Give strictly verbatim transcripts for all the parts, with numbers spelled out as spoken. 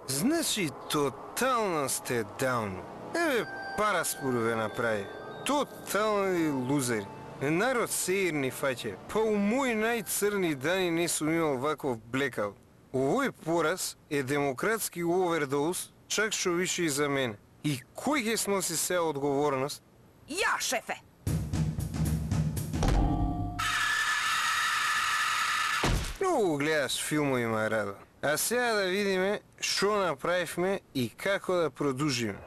Значи, тотално сте даун. Еве, пара спору ве направи. Тотални лузери. Народ сеир ни фаќа. Па у мои најцрни дани не сум имал ваков блекал. Овој пораз е демократски овердоз, чак што више и за мене. И кој ќе сноси сега одговорност? Ја, шефе! Многу гледаш филмови, Марадо. А сега да видиме што направивме и како да продолжиме.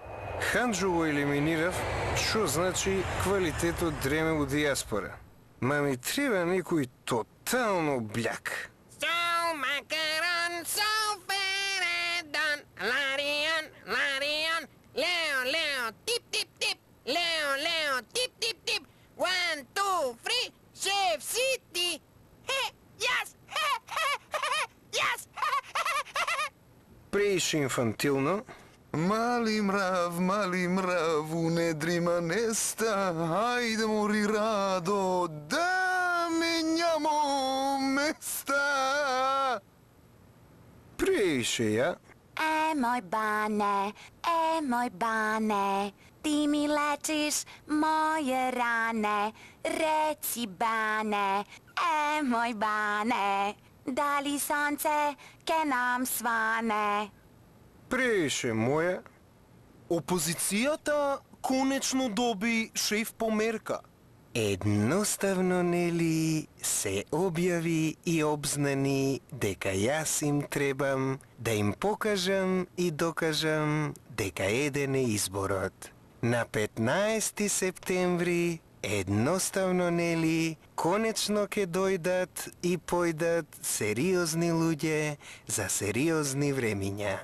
Ханџо го елиминирав, што значи квалитетот дреме у диаспора. Ма ми треба некој тотално бљак. So macaron, so feredon, Larion, Larion, Leo, Leo, tip, tip, tip, Leo, Leo, tip, tip, tip, one, two, three, Chef City, he, yes, he, he, he, yes, Преише инфантилно. Мали мрав, мали мрав, у недрима неста, ајде мори радо, да менјамо места. Преише ја. E moj bane, e moj bane, ti mi lečiš moje rane, reci bane, e moj bane, da li sonce ke nam svane? Преише моја. Опозицијата конечно доби шеф померка. Едноставно, нели, се објави и обзнани дека јас им требам да им покажам и докажам дека еден е изборот. На петнаесети септември, едноставно, нели, конечно ќе дојдат и појдат сериозни луѓе за сериозни времиња.